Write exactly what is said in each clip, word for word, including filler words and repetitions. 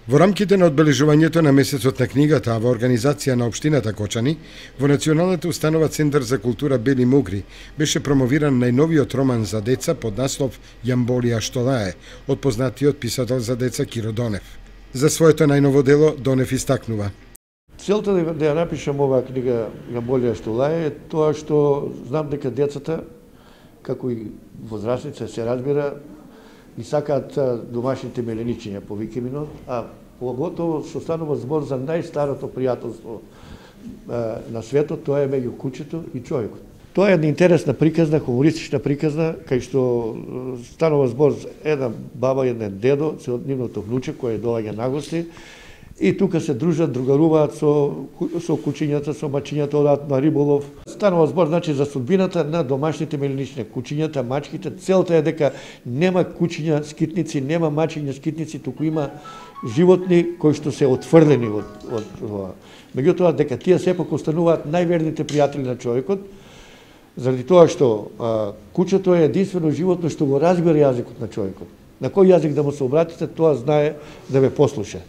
Во рамките на одбележувањето на месецот на книгата, а во организација на општината Кочани, во Националната установа Центар за култура Бели Мугри беше промовиран најновиот роман за деца под наслов Јамболија што лае, од познатиот писател за деца Киро Донев. За своето најново дело Донев истакнува: Целта да ја напишам оваа книга Јамболија што лае е тоа што знам дека децата, како и возрастните, се разбира, и сакаат домашните меленичиња по викеминот, а поготово што станува збор за најстарото пријателство на светот, тоа е меѓу кучето и човекот. Тоа е една интересна приказна, хумористична приказна, кај што станува збор за една баба и еден дедо, се од нивното внуче кој доаѓа на гости, и тука се дружат, другаруваат со, со кучињата, со мачињата, одат на риболов. Станува збор, значи, за судбината на домашните меленични, кучињата, мачките. Целта е дека нема кучиња скитници, нема мачиња скитници, туку има животни кои што се отфрлени од, од ова. Меѓутоа, дека тие сепак остануваат најверните пријатели на човекот, заради тоа што а, кучето е единствено животно што го разбира јазикот на човекот. На кој јазик да му се обратите, тоа знае да ве послуша.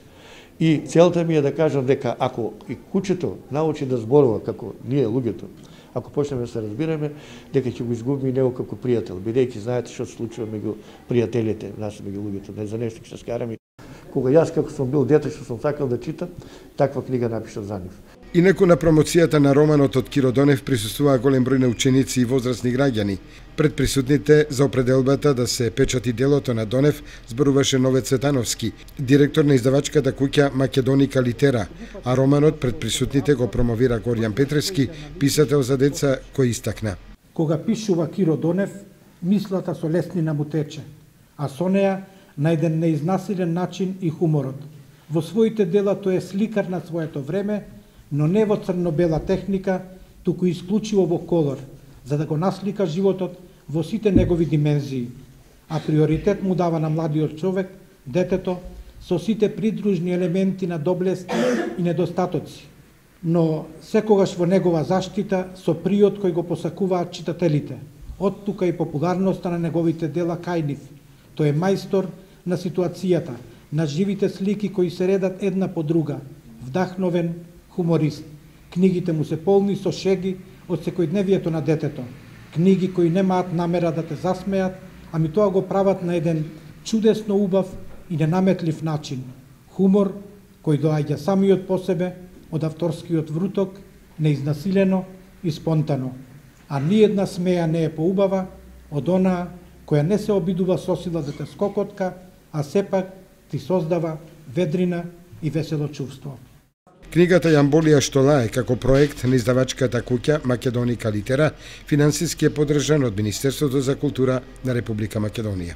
И целта ми е да кажам дека ако и кучето научи да зборува како ние луѓето, ако почнеме да се разбираме, дека ќе го изгубиме и него како пријател, бидејќи знаете што се случува меѓу пријателите, нас меѓу луѓето, не за нешто ќе се скараме. Кога јас како сум бил дете што сум сакал да читам, таква книга напишав за нив. Инаку на промоцијата на романот од Киро Донев присуствуваа голем број на ученици и возрастни граѓани. Пред присутните за определбата да се печати делото на Донев зборуваше Нове Цветановски, директор на издавачката куќа Македоника Литера, а романот пред присутните го промовира Горјан Петревски, писател за деца, кој истакна: Кога пишува Киро Донев, мислата со леснина му тече, а со неа на еден неизнасилен начин и хуморот. Во своите дела тој е сликар на своето време, но не во црно-бела техника, туку исклучиво во колор, за да го наслика животот во сите негови димензии. А приоритет му дава на младиот човек, детето, со сите придружни елементи на доблести и недостатоци, но секогаш во негова заштита со приот кој го посакуваат читателите. Од тука и популарноста на неговите дела кај нив. Тој е мајстор на ситуацијата, на живите слики кои се редат една по друга, вдахновен хуморист. Книгите му се полни со шеги од секојдневието на детето. Книги кои немаат намера да те засмеат, ами тоа го прават на еден чудесно убав и ненаметлив начин. Хумор кој доаѓа самиот по себе од авторскиот вруток, неизнасилено и спонтано. А ниедна смеја не е поубава од онаа која не се обидува со сила да те скокотка, а сепак ти создава ведрина и весело чувство. Книгата Јамболија што лае како проект на издавачката куќа Македоника Литера финансиски е поддржан од Министерството за култура на Република Македонија.